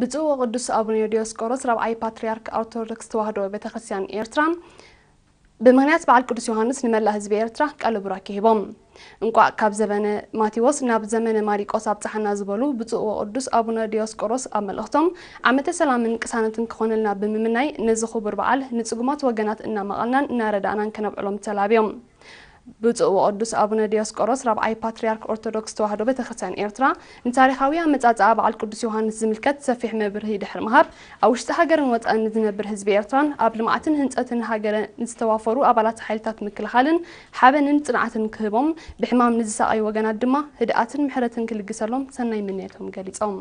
ብፁዕ ወቅዱስ ኣቡነ ዲዮስቆሮስ ራብዓይ ፓትርያርክ ኦርቶዶክስ ተዋህዶ ቤተክርስትያን ኤርትራ ብምኽንያት በዓል ቅዱስ ዮሃንስ ንመላእ ህዝቢ ኤርትራ ቃለ ቡራኬ ሂቦም። እንቋዕ ካብ ዘበነ ማቴዎስ ናብ ዘመነ ማሪቆስ ኣብጽሓና ዝበሉ ብፁዕ ወቅዱስ ኣቡነ ዲዮስቆሮስ ኣብ መልእኽቶም ዓመተ ሰላምን ቅሳነትን ክኾነልና ብምምናይ ነዚ ክቡር በዓል ንጽጉማት ወገናት እናመቐልናን እናረዳእናን ከነብዕሎም ተላብዮም። ብፁዕ ወቅዱስ ኣቡነ ዲዮስቆሮስ ራብዓይ ፓትርያርክ ኦርቶዶክስ ተዋህዶ ቤተክርስትያን ኤርትራ ንታሪኻዊ ኣመጻጽኣ በዓል ቅዱስ ዮሃንስ ዝምልከት ሰፊሕ መብርሂ ድሕሪ ምሃብ ኣብ ውሽጢ ሃገርን ወጻእን ንዝነብር ህዝቢ ኤርትራን ኣብ ልምዓትን ህንጸትን ሃገረ ንዝተዋፈሩ ኣባላት ሓይልታት ምክልኻልን ሓበንን ጽንዓትን ክህቦም ብሕማም ንዝሳቐዩ ወገናት ድማ ህድኣትን ምሕረትን ክልግሰሎም ሰናይ ምንየቶም ገሊጾም።